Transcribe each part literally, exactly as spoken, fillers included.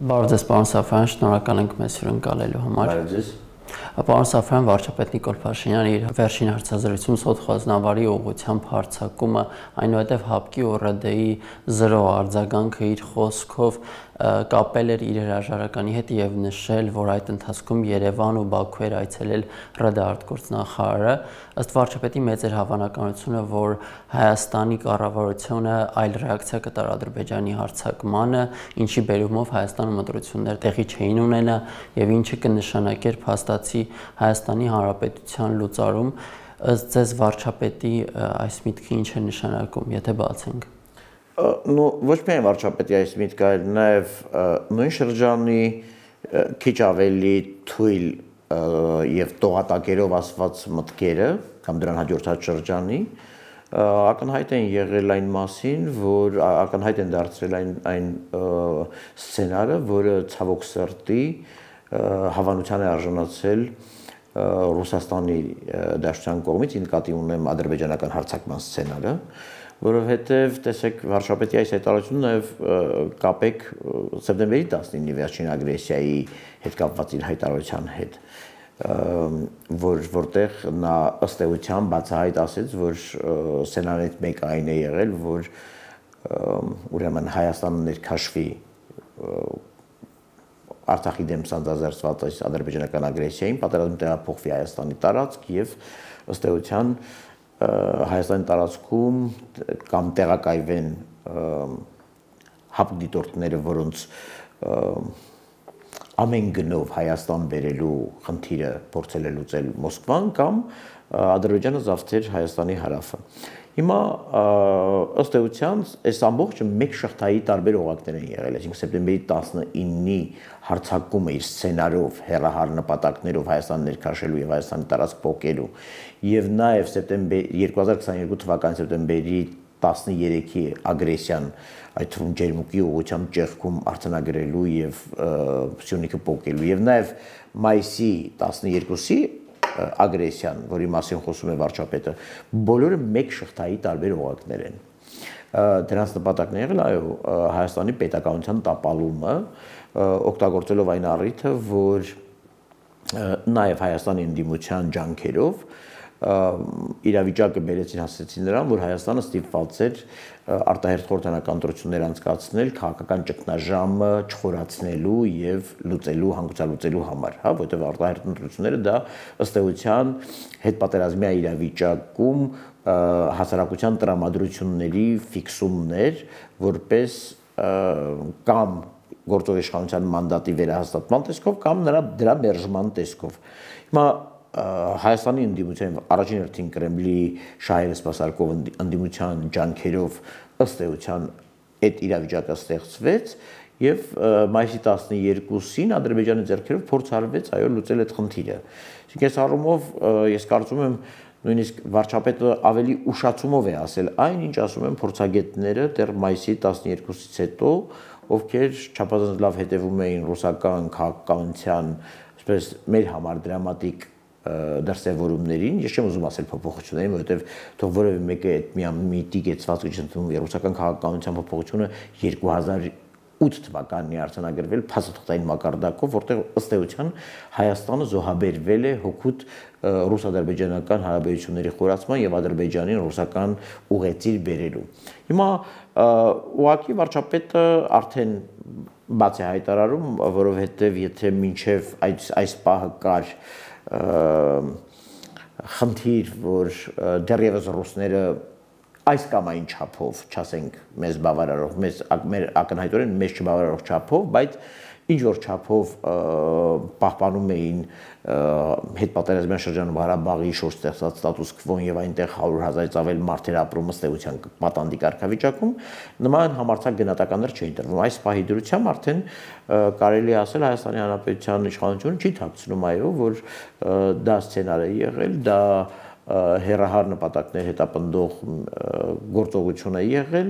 Բարև ձեզ, պարոն Սաֆարյան, շնորհակալ ենք մեզ հյուրընկալելու համար։ Բարև ձեզ։ Պարոն Սաֆարյան, վարչապետ Նիկոլ Փաշինյանը իր վերջին հարցազրույցում սոթխոզնավարի ուղղությամբ հարձակումը, այնուհետև ՀԱՊԿ-ի ու ՌԴ-ի զրո արձագանքը իր խոսքով կապել էր իր հրաժարականի հետ եւ նշել, որ այդ ընթացքում Երևան ու Բաքու էր այցելել ՌԴ արտգործնախարարը, ըստ վարչապետի մեծ էր հավանականությունը, որ Հայաստանի կառավարությունը այլ ռեակցիա կտար Ադրբեջանի հարձակմանը, ինչի բերումով Հայաստանում ընտրություններ տեղի չէին ունենա եւ ինչը կնշանակեր փաստացի Հայաստանի Հանրապետության լուծարում, ըստ ձեզ վարչապետի այս միտքը ինչ է նշանակում, եթե բացենք։ Ну, ոչ միայն վարչապետի այս միտքը, այլ նաև նույն շրջանի քիչ ավելի թույլ եւ տողատակերով ասված մտքերը կամ դրան հաջորդած շրջանի ակնհայտ են եղել այն մասին, որ ակնհայտ են դարձրել այն այն սցենարը, որը ցավոք սրտի հավանության է արժանացել Ռուսաստանի Դաշնության կողմից, նկատի ունեմ ադրբեջանական հարձակման սցենարը, որովհետև տեսեք վարչապետի այս հայտարարությունը նաև կապեք սեպտեմբերի տասնինի վերջին ագրեսիայի հետ կապված իր հայտարարության հետ, որ որտեղ նա ըստ էության բացահայտ ասեց, որ սցենարներից մեկը այն է եղել, որ ուրեմն Հայաստանը ներքաշվի Արցախի դեմ սանձազերծված այս ադրբեջանական ագրեսիային, պատերազմը տեղափոխվի Հայաստանի տարածք եւ ըստ էության Հայաստանի տարածքում կամ տեղակայվեն ՀԱՊԿ դիտորդները, որոնց ամեն գնով Հայաստան բերելու խնդիրը փորձել է լուծել Մոսկվան կամ Ադրբեջանը զավթեր Հայաստանի հարավը։ Հիմա ըստ էության այս ամբողջը մեկ շղթայի տարբեր օղակներ են եղել, այսինքն սեպտեմբերի տասնինի հարձակումը իր սցենարով, հեռահար նպատակներով Հայաստան ներքաշելու եւ Հայաստանի տարածք փոկելու եւ նաեւ սեպտեմբեր երկու հազար քսաներկու թվականի սեպտեմբերի տասներեքի ագրեսիան, այդ թվում ջերմուկի ուղղությամբ ճեղքում արձանագրելու եւ Սյունիքը փոկելու եւ նաեւ մայիսի տասներկուսի ագրեսիան, որի մասին խոսում է վարչապետը, բոլորը մեկ շղթայի տարբեր օղակներ են։ Դրանց նպատակն եղել այո Հայաստանի պետականության տապալումը, օգտագործելով այն առիթը, որ նաև Հայաստանի ընդդիմության ջանքերով իրավիճակը բերեցին հասեցին նրան, որ Հայաստանը ստիպված էր արտահերթ խորհրդանական ընտրություններ անցկացնել քաղաքական ճգնաժամը չխորացնելու եւ լուծելու, հանգուցալուծելու համար, հա, որովհետեւ արտահերթ ընտրությունները դա ըստ էության հետպատերազմյա իրավիճակում հասարակության տրամադրությունների ֆիքսումներ, որպես կամ գործող իշխանության մանդատի վերահաստատման տեսքով կամ նրա դրա մերժման տեսքով։ Հիմա Հայաստանի ընդդիմության առաջին հերթին Կրեմլի շահերը սպասարկող ընդդիմության ջանքերով ըստ էության այդ իրավիճակը ստեղծվեց եւ մայիսի տասներկուսին Ադրբեջանի ձեռքերով փորձ արվեց այո լուծել այդ խնդիրը։ Իսկ այս առումով ես կարծում եմ նույնիսկ վարչապետը ավելի ուշացումով է ասել այն, ինչ ասում են փորձագետները դեռ մայիսի տասներկուսից հետո, ովքեր չափազանց լավ հետևում էին ռուսական քաղաքականության, այսպես մեր համար դրամատիկ դրսևորումներին, ես չեմ ուզում ասել փոփոխություններին, որովհետև թող որևէ մեկը այդ միամիտի կեցվածքը չընդունում ռուսական քաղաքականության փոփոխությունը երկու հազար ութ թվականին արձանագրվել փաստաթղթային մակարդակով, որտեղ ըստ էության Հայաստանը զոհաբերվել է հօգուտ ռուս-ադրբեջանական հարաբերությունների խորացման եւ Ադրբեջանին ռուսական ուղեցիր բերելու։ Հիմա ուղղակի վարչապետը արդեն բաց է հայտարարում, որովհետեւ եթե մինչեւ այս այս պահը կար խնդիր, որ դեռևս ռուսները այս կամ այն չափով, չասենք մեզ բավարարող, մեզ մեր ակնհայտորեն մեզ չբավարարող չափով, բայց ինչ որ չափով պահպանում էին հետպատերազմյան շրջանում Ղարաբաղի շուրջ ստեղծած ստատուս քվոն եւ այնտեղ հարյուր հազարից ավել մարդեր ապրում ըստ էության պատանդի կարգավիճակում, նման համարձակ գնահատականներ չէին տրվում։ Այս պահի դրությամբ արդեն կարելի է ասել Հայաստանի Հանրապետության իշխանությունը չի թաքցնում այո, որ դա սցենար է եղել, դա հեռահար նպատակներ հետապնդող գործողություն է եղել,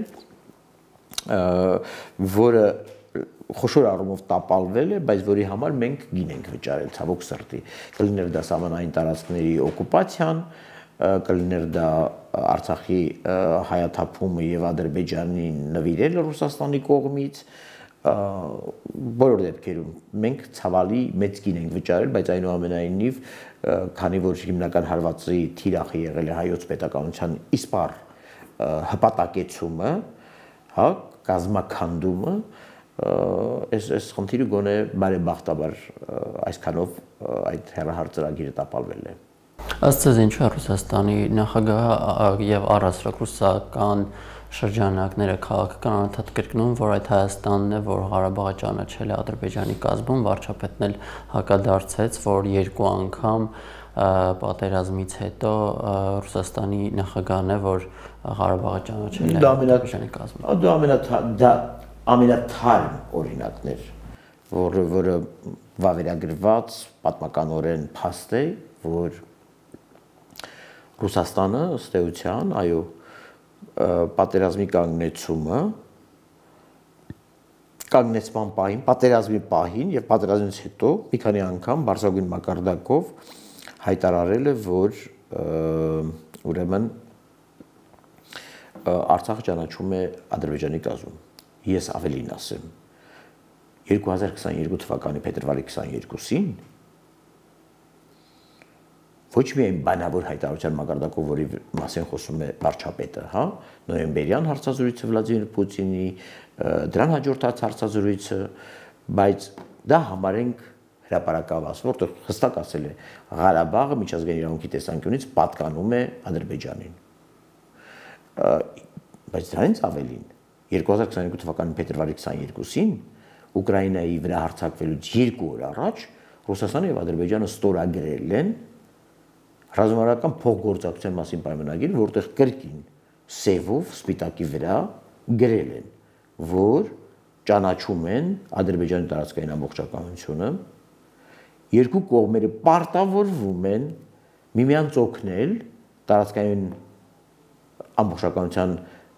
որը խոշոր առումով տապալվել է, բայց որի համար մենք գին ենք վճարել ցավոք սրտի։ Կլիներ դա սահմանային տարածքների օկուպացիան, կլիներ դա Արցախի հայաթափումը եւ Ադրբեջանի նվիրելը Ռուսաստանի կողմից, բոլոր դեպքերում մենք ցավալի մեծ գին ենք վճարել, բայց այնուամենայնիվ քանի որ հիմնական հարվածի թիրախը եղել է հայոց պետականության իսպառ հպատակեցումը, հա, կազմաքանդումը, այս այս խնդիրը գոնե բարեբախտաբար այսքանով այդ հեռահար ծրագիրը տապալվել է։ Ըստ ձեզ ինչու է Ռուսաստանի նախագահը եւ առասրակ ռուսական շրջանակները քաղաքական անընդհատ կրկնում, որ այդ Հայաստանն է, որ Ղարաբաղը ճանաչել է Ադրբեջանի կազմում, վարչապետն էլ հակադարձեց, որ երկու անգամ պատերազմից հետո Ռուսաստանի նախագահն է, որ Ղարաբաղը ճանաչել է Ադրբեջանի կազմում։ Դա ամենաթարմ ամենաթարմ օրինակն էր, որը որը վավերագրված պատմականորեն փաստ է, որ Ռուսաստանը ըստ էության, այո, պատերազմի կանգնեցումը կանգնեցման պահին, պատերազմի պահին եւ պատերազմից հետո մի քանի անգամ բարձրագույն մակարդակով հայտարարել է, որ ուրեմն Արցախը ճանաչում է Ադրբեջանի կազմում։ Ես ավելին ասեմ, երկու հազար քսաներկու թվականի փետրվարի քսաներկուսին ոչ միայն բանավոր հայտարարության մակարդակով, որի մասին խոսում է վարչապետը, հա, նոյեմբերյան հարցազրույցը Վլադիմիր Պուտինի, դրան հաջորդած հարցազրույցը, բայց դա համարենք հրապարակավազ, որտեղ հստակ ասել է Ղարաբաղը միջազգային իրավունքի տեսանկյունից պատկանում է Ադրբեջանին։ Բայց դրանից ավելին երկու հազար քսաներկու թվականի փետրվարի քսաներկուսին Ուկրաինայի վրա հարձակվելուց երկու օր առաջ Ռուսաստանը եւ Ադրբեջանը ստորագրել են ռազմավարական փոխգործակցության մասին պայմանագիր, որտեղ կրկին սևով սպիտակի վրա գրել են, որ ճանաչում են Ադրբեջանի տարածքային ամբողջականությունը, երկու կողմերը պարտավորվում են միմյանց օգնել տարածքային ամբողջականության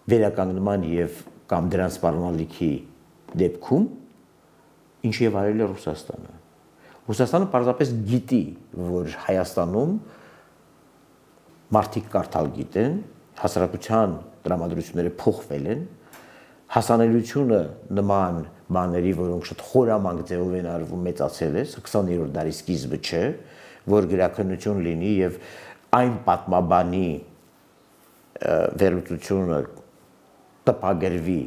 վերականգնման եւ կամ դրան սպառնալիքի դեպքում, ինչի եւ արել է Ռուսաստանը։ Ռուսաստանը պարզապես գիտի, որ Հայաստանում մարդիկ կարդալ գիտեն, հասարակության տրամադրությունները փոխվել են, հասանելիությունը նման բաների, որոնք շատ խորամանկ ձևով են արվում, մեծացել է, քսաներորդ դարի սկիզբը չէ, որ գրաքննություն լինի եւ այն պատմաբանի վերլուծությունը տպագրվի,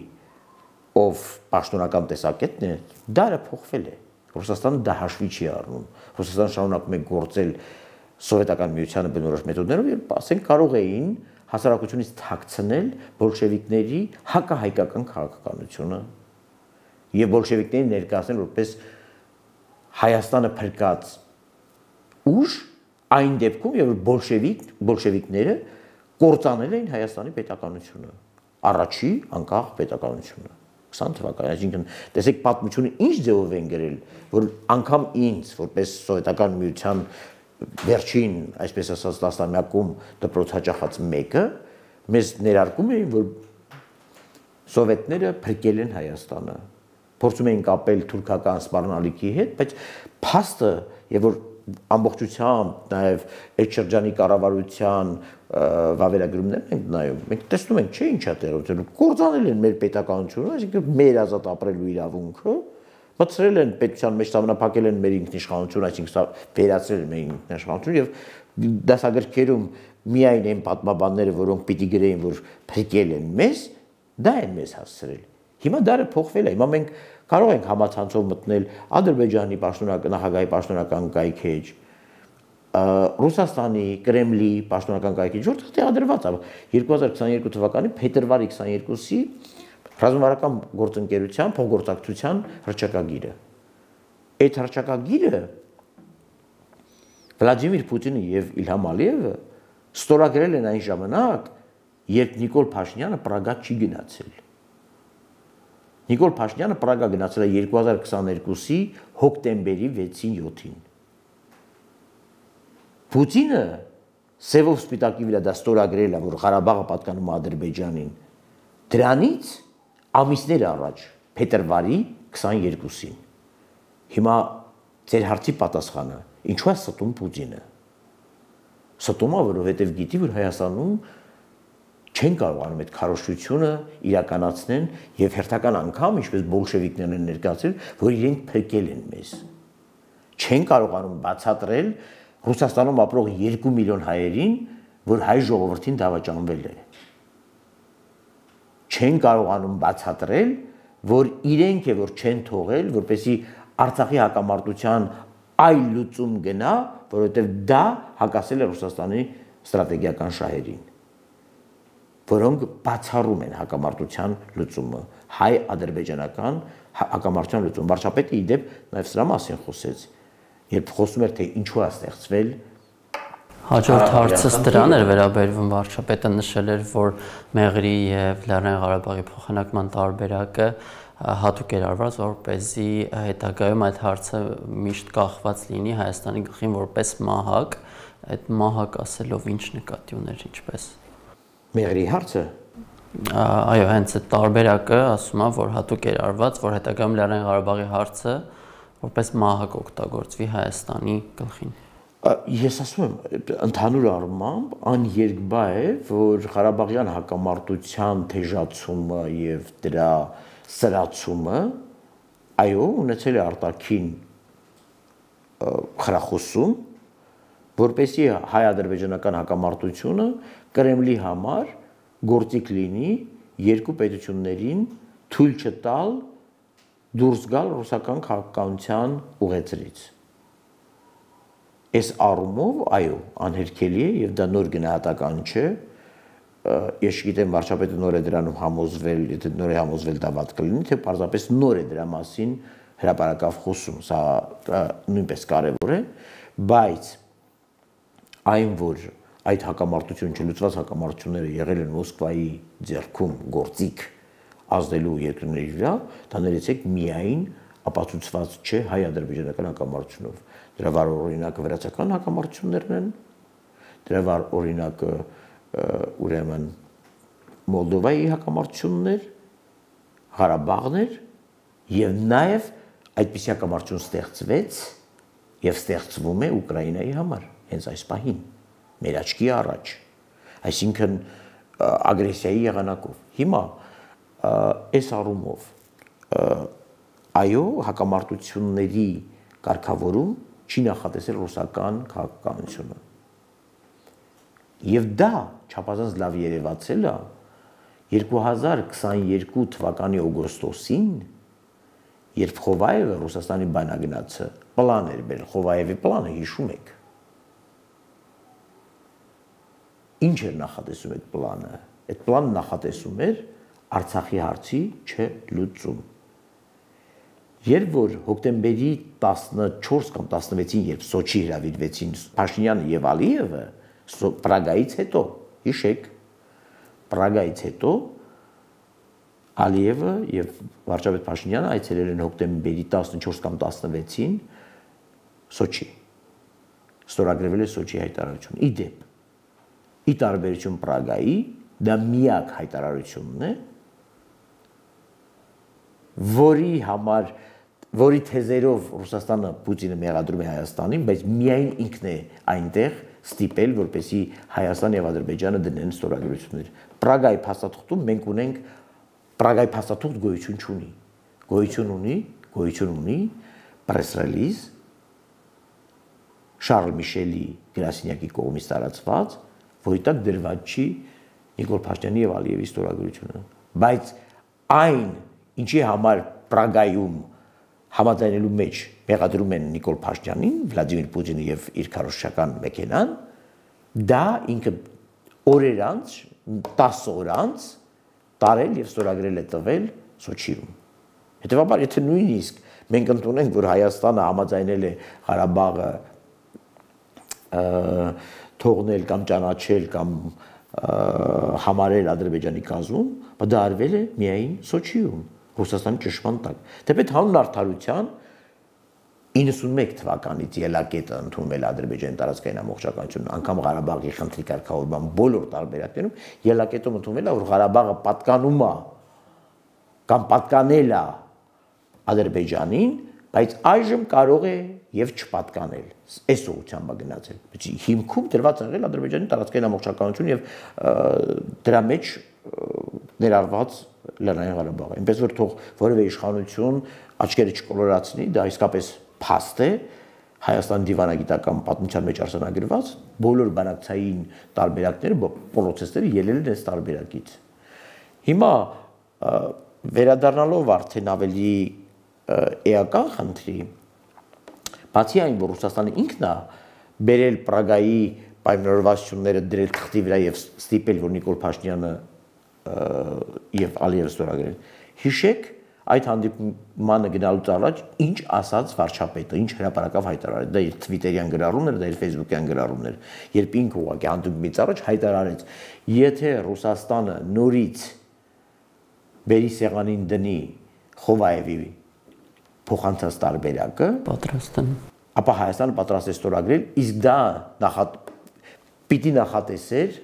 ով պաշտոնական տեսակետն է, դարը փոխվել է։ Ռուսաստանը դա հաշվի չի առնում։ Ռուսաստանը շարունակում է գործել սովետական միությանը բնորոշ մեթոդներով եւ ասենք կարող էին հասարակությունից թաքցնել բոլշևիկների հակահայկական քաղաքականությունը եւ բոլշևիկներին ներկայացնել որպես Հայաստանը փրկած ուժ այն դեպքում եւ բոլշևիկ բոլշևիկները կործանել էին Հայաստանի պետականությունը, առաջի անկախ պետականությունը քսան թվականին, այսինքն տեսեք պատմությունը ինչ ձևով են գրել, որ անգամ ինձ որպես սովետական միության վերջին, այսպես ասած, տասնամյակում դպրոց հաճախած մեկը մեզ ներարկում էին, որ սովետները փրկել են Հայաստանը, փորձում էին կապել թուրքական սպառնալիքի հետ, բայց փաստը եւ որ ամբողջությամբ նաեւ այդ շրջանի կառավարության վավերագրումներն ենք նայում, մենք տեսնում ենք, չէ՞ ինչա տեղի կործանել են մեր պետականությունը, այսինքն մեր ազատ ապրելու իրավունքը, մտցրել են պետության մեջ սահմանափակել են մեր ինքնիշխանությունը, այսինքն վերացրել են մեր ինքնիշխանությունը եւ դասագրքերում միայն այն պատմաբանները, որոնք պիտի գրեին, որ փրկել են մեզ, դա են մեզ հասցրել։ Հիմա դարը փոխվել է, հիմա մենք կարող ենք համացանցով մտնել Ադրբեջանի պաշտոնական նախագահի պաշտոնական կայքեջ, Ռուսաստանի Կրեմլի պաշտոնական կայքեջ, որտեղ տեղադրված է երկու հազար քսաներկու թվականի փետրվարի քսաներկուսի ռազմավարական գործընկերության փոխգործակցության հռչակագիրը։ Այդ հռչակագիրը Վլադիմիր Պուտինը եւ Իլհամ Ալիևը ստորագրել են այն ժամանակ, երբ Նիկոլ Փաշինյանը Պրագա չի գնացել։ Նիկոլ Փաշինյանը Պրագա գնացել է երկու հազար քսաներկուսի հոկտեմբերի վեցին յոթին։ Պուտինը սևով սպիտակի վրա դա ստորագրել է, որ Ղարաբաղը պատկանում է Ադրբեջանին։ Դրանից ամիսներ առաջ, փետրվարի քսաներկուսին։ Հիմա ձեր հարցի պատասխանը, ինչու է ստում Պուտինը։ Ստում է, որովհետև գիտի, որ Հայաստանում չեն կարողանում այդ քարոզչությունը իրականացնեն եւ հերթական անգամ, ինչպես բոլշևիկներն են ներկայացրել, որ իրենք փրկել են մեզ։ Չեն կարողանում բացատրել Ռուսաստանում ապրող երկու միլիոն հայերին, որ հայ ժողովրդին դավաճանվել է։ Չեն կարողանում բացատրել, որ իրենք է որ չեն թողել, որպեսզի Արցախի հակամարտության այլ լուծում գնա, որովհետև դա հակասել է Ռուսաստանի ստրատեգիական շահերին, որոնք բացառում են հակամարտության լուծումը, հայ-ադրբեջանական հակամարտության լուծումը։ Վարչապետը ի դեպ նաև սրա մասին խոսեց, երբ խոսում էր, թե ինչու է ստեղծվել Հաջորդ հարցս դրան էր վերաբերվում, վարչապետը նշել էր, որ Մեղրի եւ Լեռնային Ղարաբաղի փոխանակման տարբերակը հատուկ էր արված, որպեսզի հետագայում այդ հարցը միշտ կախված լինի Հայաստանի գլխին որպես մահակ, այդ մահակ ասելով ինչ նկատի ուներ, ինչպես։ Մեղրի հարցը։ Այո, հենց այդ տարբերակը ասում է, որ հատուկ էր արված, որ հետագայում Լեռնային Ղարաբաղի հարցը որպես մահակ օգտագործվի Հայաստանի գլխին։ Ես ասում եմ, ընդհանուր առմամբ աներկբա է, որ Ղարաբաղյան հակամարտության թեժացումը եւ դրա սրացումը, այո, ունեցել է արտաքին խրախուսում, որպեսզի հայ-ադրբեջանական հակամարտությունը Կրեմլի համար գործիք լինի երկու պետություններին թույլ չտալ դուրս գալ ռուսական քաղաքականության ուղեծրից։ Այս առումով, այո, անհերքելի է եւ դա նոր գնահատական չէ։ Ես չգիտեմ վարչապետը նոր է դրանում համոզվել, եթե նոր է համոզվել դա վատ կլինի, թե պարզապես նոր է դրա մասին հրապարակավ խոսում, սա նույնպես կարևոր է, բայց այն որ այդ հակամարտությունը, չլուծված հակամարտությունները եղել են Մոսկվայի ձեռքում գործիք ազդելու երկրների վրա, դա ներեցեք միայն ապացուցված չէ հայ-ադրբեջանական հակամարտությունով։ Դրա վառ օրինակը վրացական հակամարտություններն են, դրա վառ օրինակը ուրեմն Մոլդովայի հակամարտություններ, Ղարաբաղն էր եւ նաեւ այդպիսի հակամարտություն ստեղծվեց եւ ստեղծվում է Ուկրաինայի համար հենց այս պահին, մեր աչքի առաջ, այսինքն ագրեսիայի եղանակով։ Հիմա այս առումով այո, հակամարտությունների կարգավորում չի նախատեսել ռուսական քաղաքականությունը։ Եվ դա չափազանց լավ երևացել է երկու հազար քսաներկու թվականի օգոստոսին, երբ Խովայևը Ռուսաստանի բանագնացը պլան էր բերել, Խովայևի պլանը հիշում եք։ Ինչ էր նախատեսում այդ պլանը։ Այդ պլանը նախատեսում էր Արցախի հարցի չլուծում։ Երբ որ հոկտեմբերի տասնչորս կամ տասնվեցին, երբ Սոչի հրավիրվեցին Փաշինյանը եւ Ալիևը, Պրագայից հետո, հիշեք, Պրագայից հետո Ալիևը եւ վարչապետ Փաշինյանը այցելել են հոկտեմբերի տասնչորս կամ տասնվեցին Սոչի։ Ստորագրվել է Սոչի հայտարարությունը։ Ի դեպ, ի տարբերություն Պրագայի, դա միակ հայտարարությունն է, որի համար որի թեզերով Ռուսաստանը Պուտինը մեղադրում է Հայաստանին, բայց միայն ինքն է այնտեղ ստիպել, որպեսզի Հայաստան եւ Ադրբեջանը դնեն ստորագրություններ։ Պրագայի փաստաթղթում մենք ունենք Պրագայի փաստաթուղթ գոյություն չունի։ Գոյություն ունի, գոյություն ունի press release Շարլ Միշելի գրասենյակի կողմից տարածված, որի տակ դրված չի Նիկոլ Փաշինյանի եւ Ալիևի ստորագրությունը։ Բայց այն, ինչի համար Պրագայում համաձայնելու մեջ մեղադրում են Նիկոլ Փաշինյանին, Վլադիմիր Պուտինը եւ իր քարոզչական մեքենան, դա ինքը օրեր անց, տասը օր անց տարել եւ ստորագրել է տվել Սոչիում։ Հետեւաբար, եթե նույնիսկ մենք ընդունենք, որ Հայաստանը համաձայնել է Ղարաբաղը թողնել կամ ճանաչել կամ համարել Ադրբեջանի կազմում, բայց դա արվել է միայն Սոչիում, Ռուսաստանի ճշմարտ տակ։ Թեպետ հանուն արդարության իննսունմեկ թվականից ելակետը ընդունվել Ադրբեջանի տարածքային ամբողջականությունն, անգամ Ղարաբաղի խնդրի կարգավորման բոլոր տարբերակներում ելակետում ընդունվել է, որ Ղարաբաղը պատկանում է կամ պատկանել է Ադրբեջանին, բայց այժմ կարող է եւ չպատկանել։ Այս ուղղությամբ է գնացել։ Հիմքում դրված եղել Ադրբեջանի տարածքային ամբողջականություն եւ դրա մեջ ներառված Լեռնային Ղարաբաղը։ Այնպես որ թող որևէ իշխանություն աչքերը չկոլորացնի, դա իսկապես փաստ է Հայաստանի դիվանագիտական պատմության մեջ արձանագրված բոլոր բանակցային տարբերակները, պրոցեսները ելել են այս տարբերակից։ Հիմա վերադառնալով արդեն ավելի էական խնդրի, բացի այն, որ Ռուսաստանը ինքն է բերել Պրագայի պայմանավորվածությունները դրել թղթի վրա եւ ստիպել, որ Նիկոլ Փաշինյանը եւ Ալիևը ստորագրեն, հիշեք այդ հանդիպմանը գնալուց առաջ ինչ ասաց վարչապետը, ինչ հրապարակավ հայտարարեց, դա իր Twitter-յան գրառումն էր, դա իր Facebook-յան գրառումն էր, երբ ինքը ուղղակի հանդիպումից առաջ հայտարարեց, եթե Ռուսաստանը նորից բերի սեղանին դնի Խովայևի փոխանցած տարբերակը, պատրաստ են, ապա Հայաստանը պատրաստ է ստորագրել, իսկ դա նախատ պիտի նախատեսեր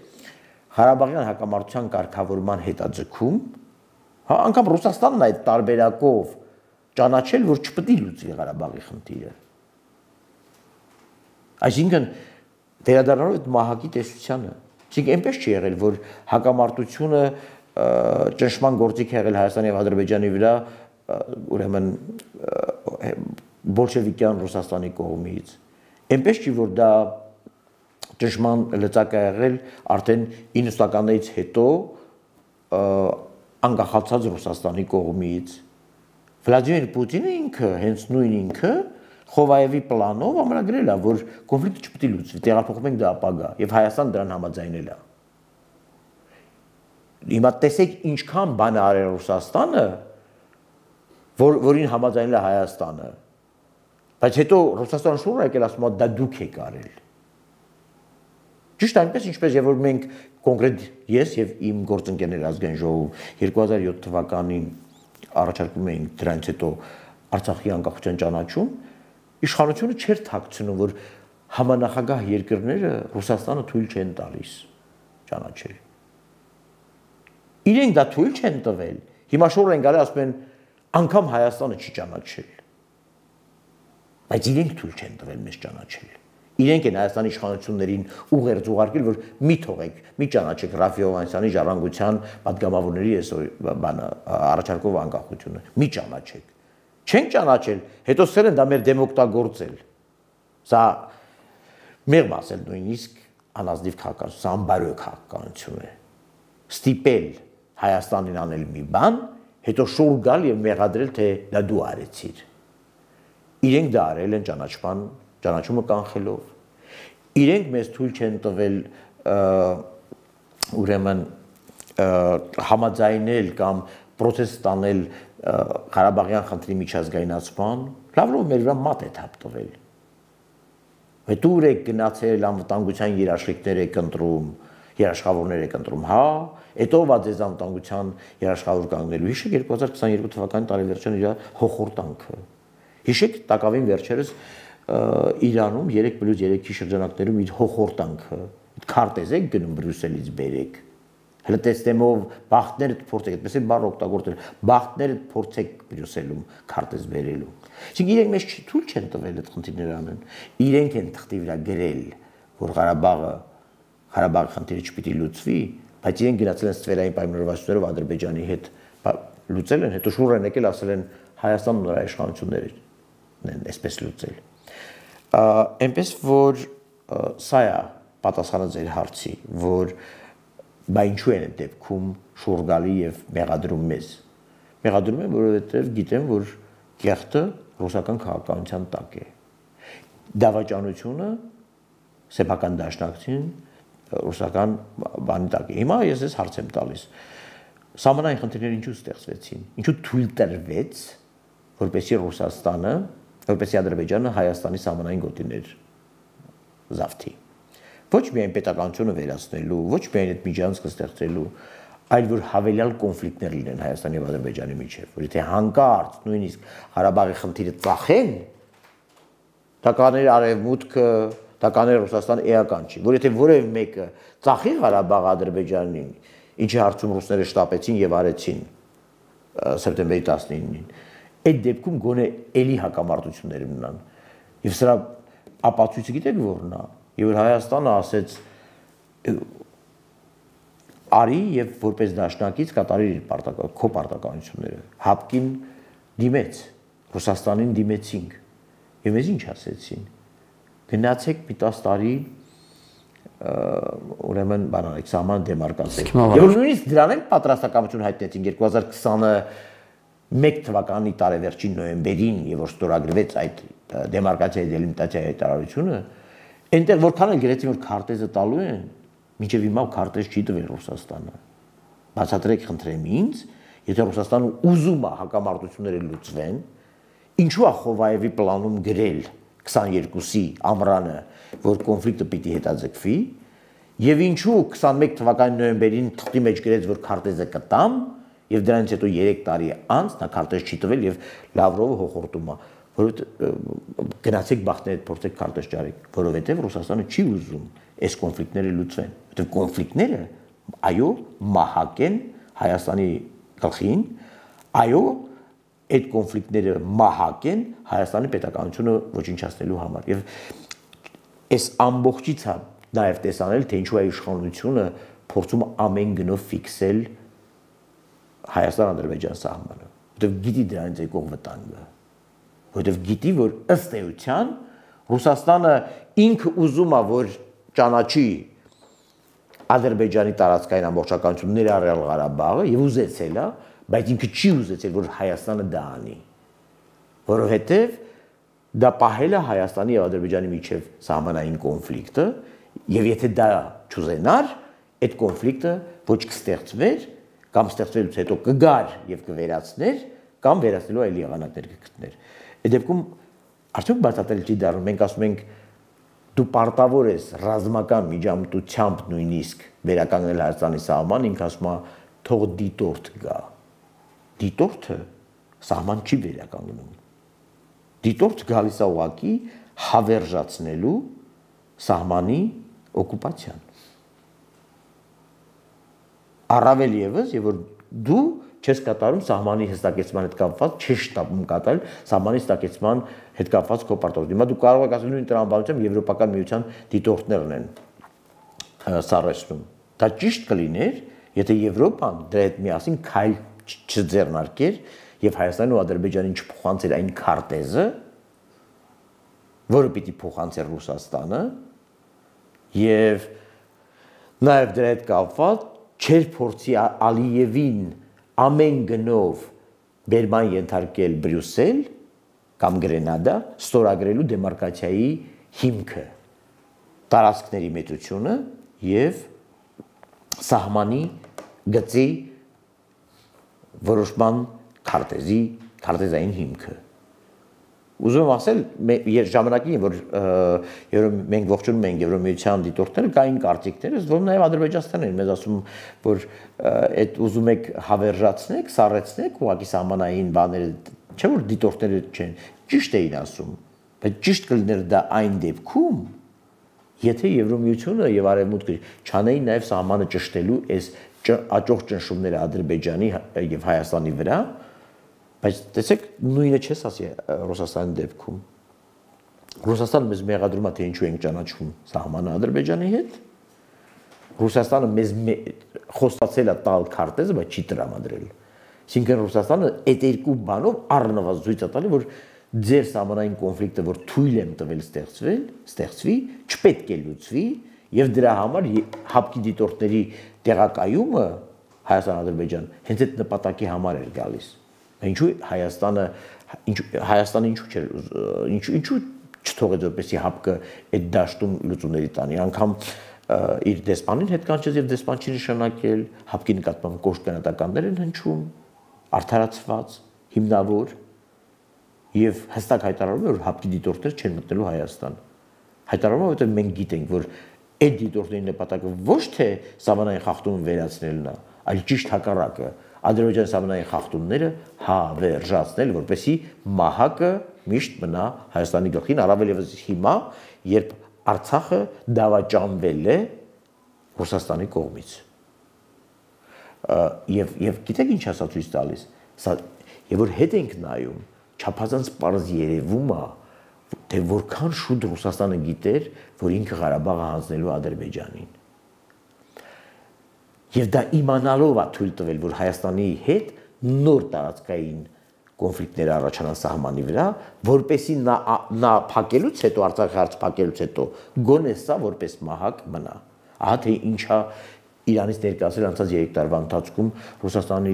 Ղարաբաղյան հակամարտության կարգավորման հետաձգում, հա անգամ Ռուսաստանն այդ տարբերակով ճանաչել, որ չպետք է լուծվի Ղարաբաղի խնդիրը։ Այսինքն վերադառնալով այդ մահակի տեսությանը, իսկ այնպես չի եղել, որ հակամարտությունը ճնշման գործիք է եղել Հայաստանի եւ Ադրբեջանի վրա, ուրեմն բոլշևիկյան Ռուսաստանի կողմից։ Այնպես չի, որ դա ճնշման լծակ է եղել արդեն իննսունականներից հետո անկախացած Ռուսաստանի կողմից։ Վլադիմիր Պուտինը ինքը, հենց նույն ինքը, Խովայևի պլանով ամրագրել է, որ կոնֆլիկտը չպետք է լուծվի, տեղափոխում ենք դա ապագա, եւ Հայաստանը դրան համաձայնել է։ Հիմա տեսեք ինչքան բան է արել Ռուսաստանը, որ որին համաձայնել է Հայաստանը։ Բայց հետո Ռուսաստանը շուռ եկել ասում է դա դուք եք արել։ Ճիշտ այնպես ինչպես եւ որ մենք կոնկրետ ես եւ իմ գործընկերներ ազգային ժողովում երկու հազար յոթ թվականին առաջարկում էինք դրանից հետո Արցախի անկախության ճանաչում, իշխանությունը չէր թաքցնում, որ համանախագահ երկրները Ռուսաստանը թույլ չեն տալիս ճանաչել։ Իրենք դա թույլ չեն տվել։ Հիմա շուռ են գալի ասում են անգամ Հայաստանը չի ճանաչել։ Բայց իրենք թույլ չեն տվել մեզ ճանաչել։ Իրենք են Հայաստանի իշխանություններին ուղերձ ուղարկել, որ մի թողեք, մի ճանաչեք Ռաֆի Հովհաննիսյանի ժառանգության պատգամավորների այս բանը առաջարկով անկախությունը, մի ճանաչեք։ Չենք ճանաչել, հետո սկսել են դա մեր դեմ օգտագործել։ Սա մեղմ ասել նույնիսկ անազնիվ քաղաքականություն, սա անբարոյ քաղաքականություն է։ Ստիպել Հայաստանին անել մի բան, հետո շուռ գալ եւ մեղադրել, թե դա դու արեցիր։ Իրենք դա արել են ճանաչման ճանաչումը կանխելով։ Իրենք մեզ թույլ չեն տվել ուրեմն համաձայնել կամ պրոցես տանել Ղարաբաղյան խնդրի միջազգայնացման, լավրով մեր վրա մատ է թափ տվել։ Հետո եք գնացել անվտանգության երաշխիքներ եք ընտրում, երաշխավորներ եք ընտրում, հա, հետո ով ձեզ անվտանգության երաշխավոր կանգնելու։ Հիշեք երկու հազար քսաներկու թվականի տարեվերջին իր հոխորտանքը։ Հիշեք տակավին վերջերս Իրանում երեք պլյուս երեքի շրջանակներում իր հոխորտանքը, քարտեզ եք գնում Բրյուսելից բերեք։ Հələ տեսնեմով բախտներդ փորձեք, այդպես է բառ օգտագործել, բախտներդ փորձեք Բրյուսելում քարտեզ բերելու։ Իսկ իրենք մեզ թույլ չեն տվել այդ խնդիրները անեն։ Իրենք են թղթի վրա գրել, որ Ղարաբաղը Ղարաբաղի խնդիրը չպիտի լուծվի, բայց իրենք գնացել են ստվերային պայմանավորվածություններով Ադրբեջանի հետ լուծել են, հետո շուռ են եկել ասել են Հայաստանն ու նրա իշխանությունները են այսպես լուծել։ Այնպես որ սա է պատասխանը ձեր հարցի, որ բա ինչու են այդ դեպքում շուռ գալի եւ մեղադրում մեզ։ Մեղադրում են, որովհետեւ գիտեն, որ կեղտը ռուսական քաղաքականության տակ է։ Դավաճանությունը սեփական դաշնակցին ռուսական բանի տակ է։ Հիմա ես ես հարց եմ տալիս։ Սահմանային խնդիրները ինչու ստեղծվեցին։ Ինչու թույլ տրվեց, որպեսզի Ռուսաստանը, որպեսզի Ադրբեջանը Հայաստանի սահմանային գոտիներ զավթի։ Ոչ միայն պետականությունը վերացնելու, ոչ միայն այդ միջանցքը ստեղծելու, այլ որ հավելյալ կոնֆլիկտներ լինեն Հայաստանի եւ Ադրբեջանի միջեւ, որ եթե հանկարծ նույնիսկ Ղարաբաղի խնդիրը ծախեն, դա կաներ արևմուտքը, դա կաներ Ռուսաստանը էական չի, որ եթե որևէ մեկը ծախի Ղարաբաղը Ադրբեջանին, ինչի հարցում ռուսները շտապեցին եւ արեցին սեպտեմբերի տասնինին, այդ դեպքում գոնե էլի հակամարտություններ մնան։ Եվ սրա ապացույցը գիտեք որն է, եւ որ Հայաստանը ասեց արի եւ որպես դաշնակից կատարի իր պարտական քո պարտականությունները, հապկին դիմեց, Ռուսաստանին դիմեցինք եւ մեզ ինչ ասեցին, գնացեք մի տասը տարի ուրեմն բանալիք սահման դեմարկացեք եւ նույնիսկ դրան էլ պատրաստակամություն հայտնեցին երկու հազար քսաներկու թվականի տարեվերջին նոյեմբերին եւ որ ստորագրվեց այդ դեմարկացիայի դելիմիտացիայի հայտարարությունը այնտեղ որքան էլ գրեցին որ քարտեզը տալու են մինչեւ հիմա քարտեզ չի տվել Ռուսաստանը բացատրեք խնդրեմ ինձ եթե Ռուսաստանը ուզում է հակամարտությունները լուծվեն ինչու է Խովայևի պլանում գրել քսաներկուսի ամռանը որ կոնֆլիկտը պիտի հետաձգվի եւ ինչու քսանմեկ թվականի նոյեմբերին թղթի մեջ գրեց որ քարտեզը կտամ եւ դրանից հետո երեք տարի անց նա քարտեզ չի տվել եւ Լավրովը հոխորտում է որովհետեւ գնացեք բախտների հետ փորձեք քարտեզ ճարեք որովհետեւ Ռուսաստանը չի ուզում այս կոնֆլիկտները լուծվեն որովհետեւ կոնֆլիկտները այո մահակ են Հայաստանի գլխին այո այդ կոնֆլիկտները մահակ են Հայաստանի պետականությունը ոչնչացնելու համար եւ այս ամբողջից է նաև տեսանել թե ինչու է իշխանությունը փորձում ամեն գնով ֆիքսել Հայաստան-Ադրբեջան սահմանը որովհետև գիտի դրանից եկող վտանգը որովհետև գիտի որ ըստ էության Ռուսաստանը ինքը ուզում է որ ճանաչի Ադրբեջանի տարածքային ամբողջականություն ներառյալ Ղարաբաղը եւ ուզեցել է բայց ինքը չի ուզեցել որ Հայաստանը դա անի որովհետև դա պահել է Հայաստանի եւ Ադրբեջանի միջև սահմանային կոնֆլիկտը եւ եթե դա չուզենար այդ կոնֆլիկտը ոչ կստեղծվեր կամ ստեղծվելուց հետո կգար եւ կվերացներ կամ վերացնելու այլ եղանակներ կգտներ այդ դեպքում արդյոք բացատրել չի դառնում մենք ասում ենք դու պարտավոր ես ռազմական միջամտությամբ նույնիսկ վերականգնել Հայաստանի սահման ինքը ասում է թող դիտորդ գա դիտորդը սահման չի վերականգնում դիտորդ գալիս է ուղղակի հավերժացնելու սահմանի օկուպացիան առավել եւս եւ որ դու չես կատարում սահմանի հստակեցման հետ կապված չես շտապում կատարել սահմանի հստակեցման հետ կապված քո պարտավորությունը հիմա դու կարող ես ասել նույն տրամաբանությամբ եվրոպական միության դիտորդներն են սարսում դա ճիշտ կլիներ եթե Եվրոպան դրա հետ միասին քայլ չձեռնարկեր եւ Հայաստանին ու Ադրբեջանին չփոխանցեր այն քարտեզը, որը պիտի փոխանցեր Ռուսաստանը, եւ նաեւ դրա հետ կապված չեր փորձի Ալիևին ամեն գնով բերման ենթարկել Բրյուսել կամ Գրենադա ստորագրելու դեմարկացիայի հիմքը, տարածքների մեծությունը եւ սահմանի գծի որոշման քարտեզի քարտեզային հիմքը ուզում եմ ասել ժամանակին որ երբ մենք ողջունում ենք Եվրոմիության դիտորդները կային կարծիքներ որ նաև Ադրբեջանցիներն են մեզ ասում որ այդ ուզում եք հավերժացնեք սառեցնեք ուղղակի սահմանային բաները չէ որ դիտորդները չեն ճիշտ էին ասում բայց ճիշտ կլիներ դա այն դեպքում եթե Եվրոմիությունը եւ Արևմուտքը չանեին նաև սահմանը ճշտելու այս աճող ճնշումները Ադրբեջանի եւ Հայաստանի վրա բայց տեսեք նույնը չես ասի Ռուսաստանի դեպքում Ռուսաստանը մեզ մեղադրում է թե ինչու ենք ճանաչում սահմանը Ադրբեջանի հետ Ռուսաստանը մեզ խոստացել է տալ քարտեզը բայց չի տրամադրել այսինքն Ռուսաստանը այդ երկու բանով առնվազն ցույց է տալի որ ձեր սահմանային կոնֆլիկտը որ թույլ եմ տվել ստեղծվել ստեղծվի չպետք է լուծվի եւ դրա համար հապկի դիտորդների տեղակայումը Հայաստան-Ադրբեջան հենց այդ նպատակի համար էր գալիս ինչու Հայաստանը ինչու Հայաստանը ինչու չէր ինչու ինչու չթողեց որպեսի հապկը այդ դաշտում լուծումների տանի անգամ իր դեսպանին հետ կանչեց եւ դեսպան չի նշանակել հապկի նկատմամբ կոշտ կանատականներ են հնչում արդարացված հիմնավոր եւ հստակ հայտարարում է որ հապկի դիտորդներ չեն մտնելու Հայաստան հայտարարում է որովհետեւ մենք գիտենք որ այդ դիտորդների նպատակը ոչ թե սահմանային խախտումը վերացնելն է այլ ճիշտ հակառակը Ադրբեջանի սահմանային խախտումները հավերժացնել որպեսի մահակը միշտ մնա Հայաստանի գլխին առավել եւս հիմա երբ Արցախը դավաճանվել է Ռուսաստանի կողմից եւ եւ գիտեք ինչ ասա ցույց տալիս սա եւ որ հետ ենք նայում չափազանց պարզ երևում է թե որքան շուտ Ռուսաստանը գիտեր, որ ինքը Ղարաբաղը հանձնելու Ադրբեջանին։ Եվ դա իմանալով է թույլ տվել, որ Հայաստանի հետ նոր տարածքային կոնֆլիկտներ առաջանան սահմանի վրա, որպեսի նա նա փակելուց հետո Արցախի հարց փակելուց հետո գոնե սա որպես մահակ մնա։ Ահա թե ինչա Իրանից ներկայացել անցած երեք տարվա ընթացքում Ռուսաստանի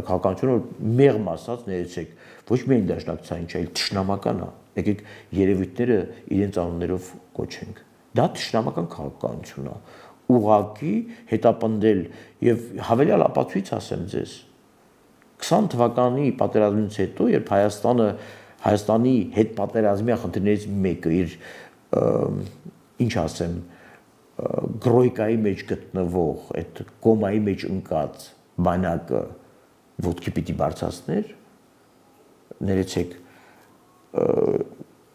քաղաքականությունը մեղմ ասած ներեցեք, ոչ միայն դաշնակցային, այլ թշնամական է։ Եկեք երևույթները իրենց անուններով կոչենք։ Դա թշնամական քաղաքականություն է։ Ուղղակի հետապնդել եւ հավելյալ ապացույց ասեմ ձեզ քսան թվականի պատերազմից հետո, երբ Հայաստանը Հայաստանի հետ պատերազմի խնդիրներից մեկը իր ինչ ասեմ գրոյկայի մեջ գտնվող այդ կոմայի մեջ ընկած բանակը ոտքի պիտի բարձրացներ, ներեցեք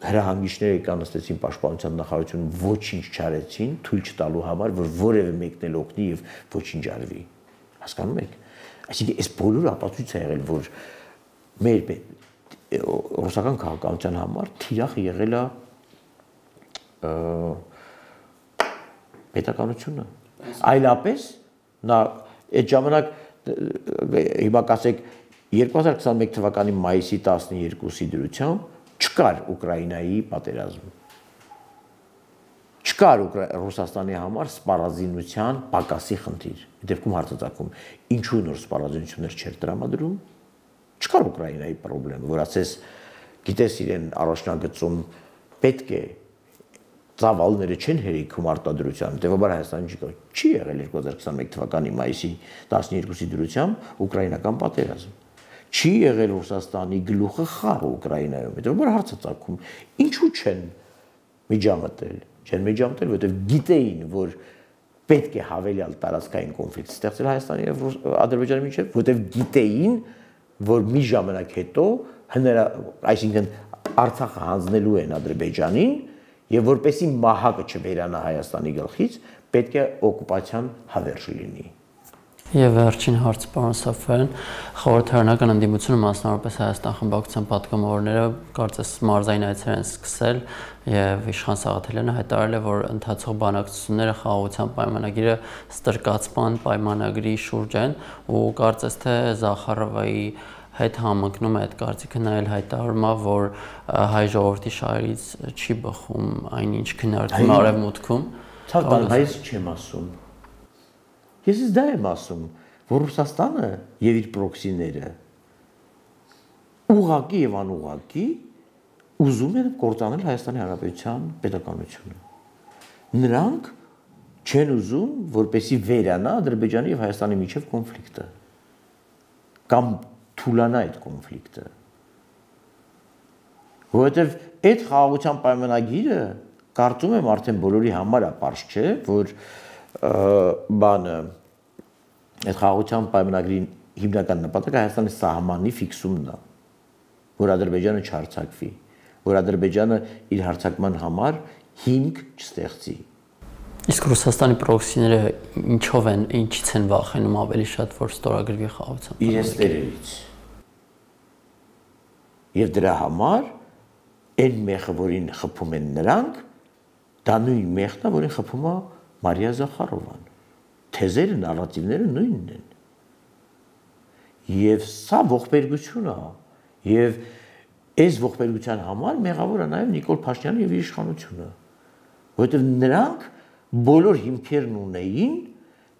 հրահանգիչները կանստեցին պաշտպանության նախարարություն ոչինչ չարեցին, թույլ չտալու համար, որ որևէ մեկն էլ օգնի եւ ոչինչ արվի։ Հասկանում եք։ Այսինքն այս բոլորը ապացույց է եղել, որ մեր ռուսական քաղաքականության համար թիրախ եղել է պետականությունը։ Այլապես նա այդ ժամանակ հիմա կասեք երկու հազար քսանմեկ թվականի մայիսի տասնյոթի դրությամբ չկար Ուկրաինայի պատերազմ։ Չկար Ռուսաստանի համար սպառազինության պակասի խնդիր։ Դեպքում հարցածագում ինչու նոր սպառազինություններ չէր տրամադրում։ Չկար Ուկրաինայի խնդրեմ, որ ասես գիտես իրեն առաջնագծում պետք է ծավալները չեն հերիքում արտադրության, տեւաբար Հայաստանի չի կա։ Չի եղել երկու հազար քսանմեկ թվականի մայիսի տասնյոթի դրությամբ ուկրաինական պատերազմ։ Չի եղել Ռուսաստանի գլուխը խաղը Ուկրաինայում, հետո հարցածագում ինչու չեն միջամտել, չեն միջամտել, որովհետև գիտեին, որ պետք է հավելյալ տարածքային կոնֆլիկտ ստեղծել Հայաստանի եւ Ադրբեջանի միջեւ, որովհետև գիտեին, որ մի ժամանակ հետո հնարա, այսինքն Արցախը հանձնելու են Ադրբեջանին եւ որպեսի մահակը չվերանա Հայաստանի գլխից, պետք է օկուպացիան հավերժ լինի։ Եվ վերջին հարցը, պարոն Սաֆարյան, խորհրդարանական ընդդիմությունը, մասնավորապես Հայաստան խմբակցության պատգամավորները կարծես մարզային այցեր են սկսել եւ Իշխան Սաղաթելյանը հայտարարել է, որ ընթացող բանակցությունները խաղաղության պայմանագիրը ստրկացման պայմանագրի շուրջ են ու կարծես թե Զախարովայի հետ համընկնում է այդ կարծիքը, նա էլ հայտարարում է, որ հայ ժողովրդի շահերից չի բխում այնինչ քննարկվում արևմուտքում։ Ցավ բան հայց չեմ ասում։ Ես ես դա եմ ասում, որ Ռուսաստանը եւ իր պրոքսիները ուղղակի եւ անուղղակի ուզում են կործանել Հայաստանի Հանրապետության պետականությունը։ Նրանք չեն ուզում, որպեսի վերանա Ադրբեջանի եւ Հայաստանի միջև կոնֆլիկտը կամ թուլանա այդ կոնֆլիկտը։ Որովհետեւ այդ խաղաղության պայմանագիրը կարծում եմ արդեն բոլորի համար է պարզ չէ, որ բանը այդ խաղաղության պայմանագրի հիմնական նպատակը Հայաստանի սահմանի ֆիքսումն է, որ Ադրբեջանը չհարձակվի, որ Ադրբեջանը իր հարձակման համար հիմք չստեղծի։ Իսկ Ռուսաստանի պրոքսիները ինչով են, ինչից են վախենում ավելի շատ, որ ստորագրվի խաղաղության պայմանագիրը։ Իրենց տերերից։ Եվ դրա համար այն մեղը, որին խփում են նրանք, դա նույն մեղն է, որին խփում է Մարիա Զախարովան։ Թեզերը, նարատիվները նույնն են։ Եվ սա ողբերգություն է, եւ այս ողբերգության համար մեղավոր է նաեւ Նիկոլ Փաշինյանը եւ իր իշխանությունը, որովհետեւ նրանք բոլոր հիմքերն ունեին,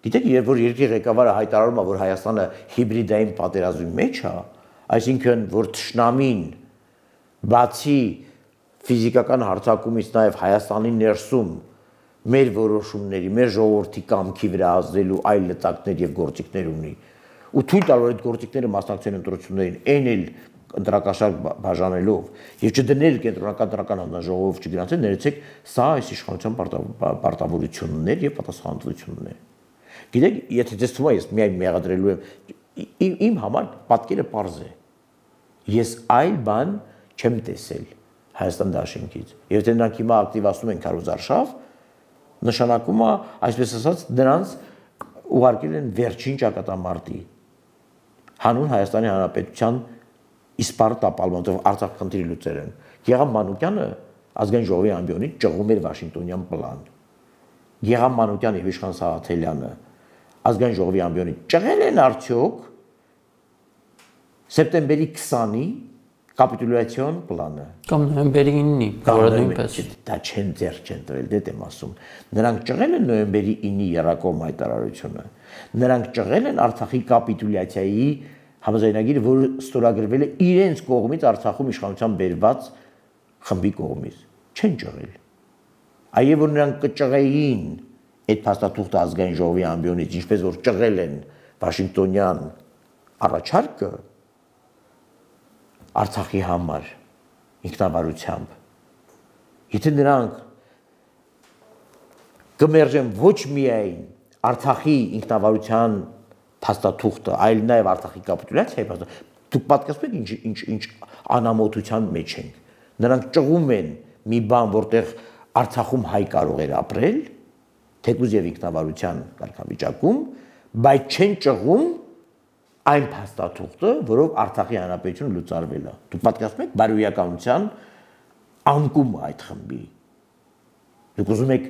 գիտեք, երբ որ երկրի ղեկավարը հայտարարում է, որ Հայաստանը հիբրիդային պատերազմի մեջ է, այսինքն որ թշնամին բացի ֆիզիկական հարձակումից նաեւ Հայաստանի ներսում մեր որոշումների, մեր ժողովրդի կամքի վրա ազդելու այլ լծակներ եւ գործիքներ ունի, ու թույլ տալ, որ այդ գործիքները մասնակցեն ընտրություններին, այն էլ ընտրակաշարք բաժանելով եւ չդնել կենտրոնական տրական հանձնաժողով չգրանցել, ներեցեք, սա այս իշխանության պարտավորություններ եւ պատասխանատվությունն է։ Գիտեք, եթե դες թվում է, ես միայն մեղադրելու եմ, իմ համար պատկերը պարզ է։ Ես այլ բան չեմ տեսել Հայաստան դաշինքից։ Եվ եթե նրանք հիմա ակտիվացնում են քարոզարշավ, նշանակում է, այսպես ասած, նրանց ուղարկել են վերջին ճակատամարտի հանուն Հայաստանի Հանրապետության իսպառ տապալման, Արցախ խնդիրի լուծել են։ Գեղամ Մանուկյանը ազգային ժողովի ամբիոնից ճղում էր Վաշինգտոնյան պլան։ Գեգամ Մանուկյանը եւ Իշխան Սաղաթելյանը ազգային ժողովի ամբիոնից ճղել են արդյոք սեպտեմբերի քսանի կապիտուլյացիոն պլանը կամ նոյեմբերի իննի, որը նույնպես դա չեն ձեռք չեն տվել, դե դեմ ասում։ Նրանք ճղել են նոյեմբերի իննի երակոմ հայտարարությունը։ Նրանք ճղել են Արցախի կապիտուլյացիայի համաձայնագիրը, որը ստորագրվել է իրենց կողմից Արցախում իշխանության բերված խմբի կողմից։ Չեն ճղել։ Այև որ նրանք կճղեին այդ փաստաթուղթը ազգային ժողովի ամբիոնից, ինչպես որ ճղել են Վաշինգտոնյան առաջարկը Արցախի համար ինքնավարությամբ։ Եթե նրանք կմերժեն ոչ միայն Արցախի ինքնավարության փաստաթուղթը, այլ նաև Արցախի կապիտուլյացիայի փաստաթուղթը, դուք պատկերացնում եք ինչ ինչ անամոթության մեջ ենք։ Նրանք ճղում են մի բան, որտեղ Արցախում հայ կարող էր ապրել, թեկուզ եւ ինքնավարության կարգավիճակում, բայց չեն ճղում այն փաստաթուղթը, որով Արցախի հանրապետությունը լուծարվել է։ Դուք պատկերացնում եք բարոյականության անկումը այդ խմբի։ Դուք ուզում եք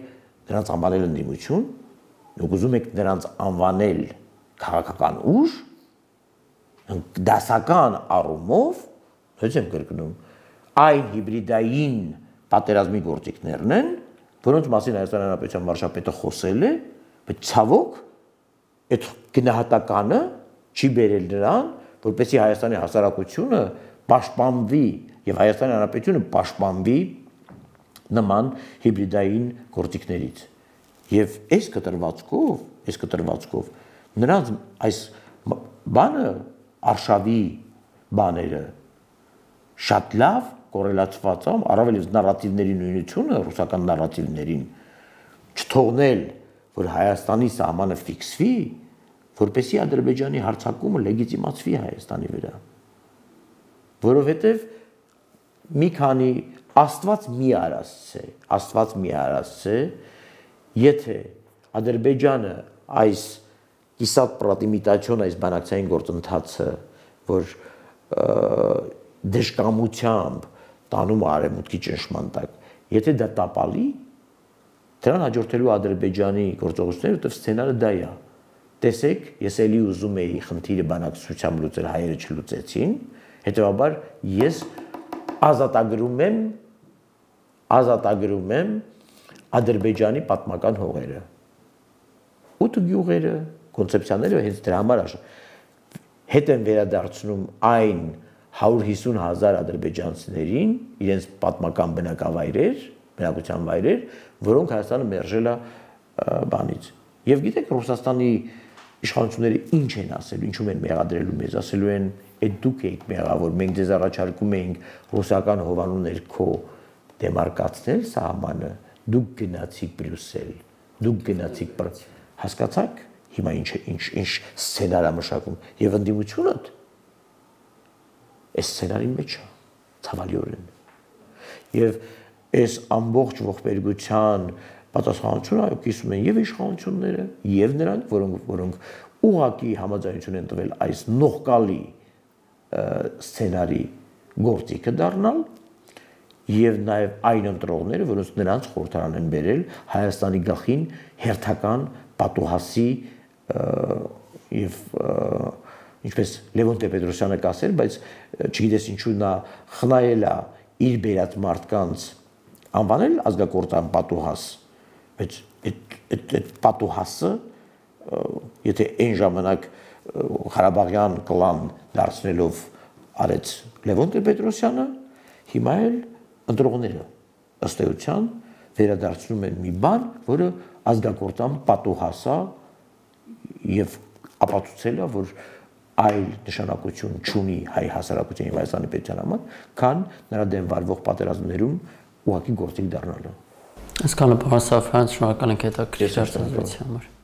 նրանց անվանել ընդդիմություն, դուք ուզում եք նրանց անվանել քաղաքական ուժ, դասական առումով, հենց եմ կրկնում, այն հիբրիդային պատերազմի գործիքներն են, որոնց մասին Հայաստանի Հանրապետության վարչապետը խոսել է, բայց ցավոք այդ գնահատականը չի բերել նրան, որպեսզի Հայաստանի հասարակությունը պաշտպանվի եւ Հայաստանի Հանրապետությունը պաշտպանվի նման հիբրիդային գործիքներից։ Եվ այս կտրվածքով, այս կտրվածքով նրանց այս բանը արշավի բաները շատ լավ կորելացված է, առավել եւս նարատիվների նույնությունը, ռուսական նարատիվներին չթողնել, որ Հայաստանի սահմանը ֆիքսվի, որպեսզի Ադրբեջանի հարձակումը լեգիտիմացվի Հայաստանի վրա, որովհետև մի քանի Աստված մի արասցե, Աստված մի արասցե, եթե Ադրբեջանը այս կիսատ պրատիմիտացիոն այս բանակցային գործընթացը, որ դժկամությամբ տանում արևմուտքի ճնշման տակ, եթե դա տապալի, դրան հաջորդելու Ադրբեջանի գործողությունները, որտեղ սցենարը դա է։ Տեսեք, ես էլի ուզում էի խնդիրը բանակցությամբ լուծել, հայերը չլուծեցին, հետեւաբար ես ազատագրում եմ ազատագրում եմ Ադրբեջանի պատմական հողերը։ Ութ գյուղերը, կոնցեպցիաները հենց դրա համար հետ են վերադարձնում այն հարյուր հիսուն հազար ադրբեջանցիներին, իրենց պատմական բնակավայրեր, բնակության վայրեր, որոնք Հայաստանը մերժել է բանից։ Եվ գիտեք, Ռուսաստանի իշխանությունները ինչ են ասելու, ինչու են մեղադրելու մեզ, ասելու են, այդ դուք եք մեղավոր, մենք ձեզ առաջարկում էինք ռուսական հովանու ներքո դեմարկացնել սահմանը, դուք գնացիք Բրյուսել, դուք գնացիք, հասկացաք, հիմա ինչ ինչ ինչ սցենար է մշակում, եւ ընդդիմությունը այս սցենարի մեջ է, ցավալիորեն։ Եվ այս ամբողջ ողբերգության պատասխանատվությունը այո կիսում են եւ իշխանությունները, եւ նրանք, որոնք որոնք ուղղակի համաձայնություն են տվել այս նողկալի սցենարի գործիքը դառնալ, եւ նաեւ այն ընտրողները, որոնց նրանց խորհրդարան են բերել Հայաստանի գլխին հերթական պատուհասի եւ ինչպես Լևոն Տեր-Պետրոսյանը կասել, բայց չգիտես ինչու նա խնայել է իր բերած մարդկանց անվանել ազգակործան պատուհաս, բայց այդ այդ պատուհասը եթե այն ժամանակ Ղարաբաղյան կլան դարձնելով արեց Լևոն Տեր-Պետրոսյանը, հիմա էլ ընտրողները ըստ էության վերադարձնում են մի բան, որը ազգակործան պատուհաս է եւ ապացուցել է, որ այլ նշանակություն չունի հայ հասարակության եւ Հայաստանի պետության համար, քան նրա դեմ վարվող պատերազմներում ուղղակի գործիք դառնալը։ Այսքանը պարոն Սաֆյան, շնորհակալ ենք հետաքրքիր հարցազրույցի համար։